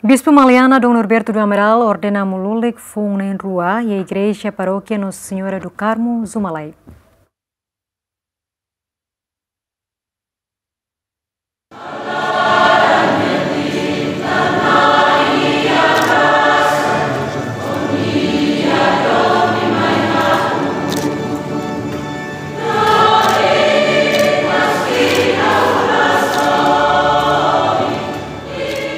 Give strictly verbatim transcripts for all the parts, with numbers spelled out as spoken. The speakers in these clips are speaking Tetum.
Bispu Maliana Dom Norberto do Amaral ordena amu lulik foun na'in-rua iha Igreja Parókia Nossa Senhora do Carmo, Zumalai.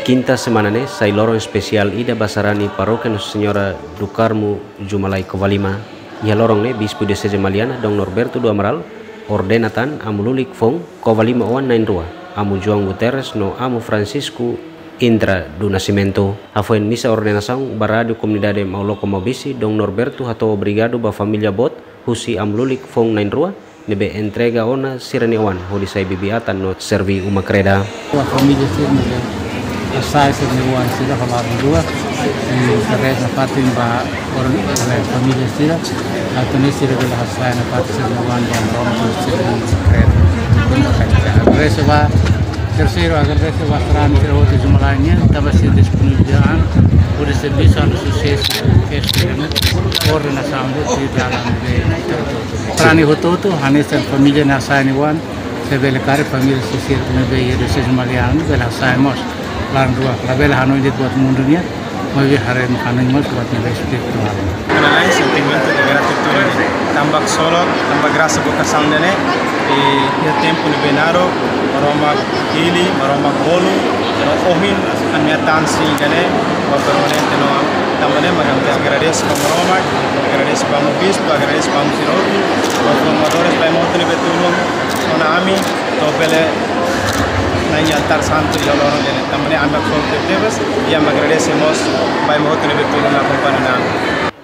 Kinta semana ne'e sai loron espesiál ida ba sarani Parókia Nossa Senhora do Carmo, Zumalai, Covalima. Iha loron ne'e Bispu Dioseze Maliana Dom Norberto do Amaral ordena tan amu lulik foun Covalima oan na'in-rua, Amu João Guterres no Amu Francisco Indra do Nascimento. Hafoin misa ordenasaun ba Rádiu Komunidade Mauloko Maubisse, Dom Norberto hato'o obrigadu ba família boot husi amu lulik foun na'in-rua ne'ebé entrega ona sira-nia oan hodi sai bibi-atan no serví uma kreda. Ba família sira ne'ebé hasai sira-nia oan sira ba laran rua, i agradese nafatin ba oan, eh, família sira, atu nune'e sira bele hasai nafatin sira-nia oan ba Maromak no serví uma kreda. Agradese ba, terseiru, agradese ba sarani sira hotu Zumalai nian, tanba sira disponibilidade hodi servisu, halo susesu, ke sira-nia ordenasaun de, de dalan de, sarani hotu-hotu, hanesan família ne'e hasai nia oan, se bele karik família sira ne'ebé iha Dioseze Maliana bele hasai mós laran rua, labele hanoin de'it buat mundu nian, maibé haree, hanoin mós buat ne'ebé espirituál. Ha'u-nia sentimentu de gratitude, tanba ksolok, tanba grasa vokasaun ida-ne'e, i iha tempu ne'ebé naruk, Maromak hili, Maromak bolu, no ohin, ami atan sin ida-ne'e ba permanente no, tanba ne'e mak ami agradese ba Maromak, agradese ba Amu Bispu, agradese ba Amu sira hotu, ba formadores, ba ema hotu ne'ebé tulun ona ami, atu bele na'in iha altár santu iha loron ida-ne'e. Tanba ne'e ami haksolok tebes, i ami agradese mós ba ema hotu ne'ebé tulun akompaña ona ami.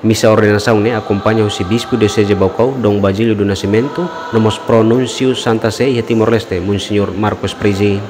Misa ordenasaun ne'e akompaña husi Bispu Dioseze Baucau, Dom Basílio do Nascimento, no mós Pro-Núnsiu Santa Sé iha Timor-Leste, Monseñór Marcos Prizi.